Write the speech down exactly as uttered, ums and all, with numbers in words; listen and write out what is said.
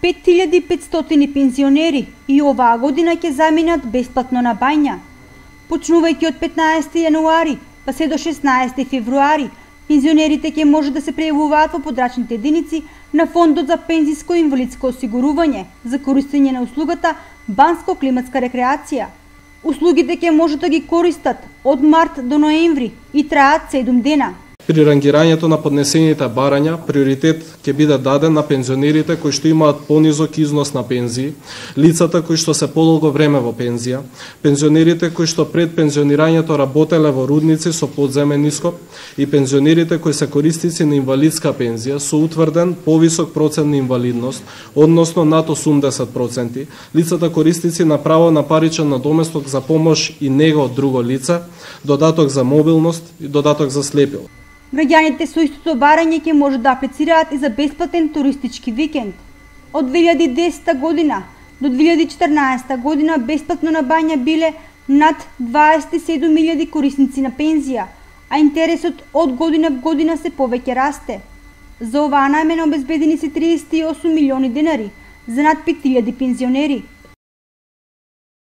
пет илјади и петстотини пензионери и оваа година ќе заминат бесплатно на бања. Почнувајќи од петнаесети јануари па се до шеснаесети февруари, пензионерите ќе може да се пријавуваат во подрачните единици на Фондот за пензиско и инвалидско осигурување за користење на услугата банско-климатска рекреација. Услугите ќе може да ги користат од март до ноември и траат седум дена. При рангирањето на поднесените барања, приоритет ќе биде даден на пензионерите кои што имаат понизок износ на пензии, лицата кои што се подолго време во пензија, пензионерите кои што пред пензионирањето работеле во рудници со подземен ископ и пензионерите кои се корисници на инвалидска пензија со утврден повисок процент на инвалидност, односно над осумдесет проценти, лицата корисници на право на паричен надоместок за помош и нега од друго лице, додаток за мобилност и додаток за слепил. Граѓаните со истото барање ќе може да аплицираат и за бесплатен туристички викенд. Од две илјади и десета година до две илјади и четрнаесета година бесплатно на бања биле над дваесет и седум илјади корисници на пензија, а интересот од година в година се повеќе расте. За оваа намена обезбедени се триесет и осум милиони денари за над пет илјади пензионери.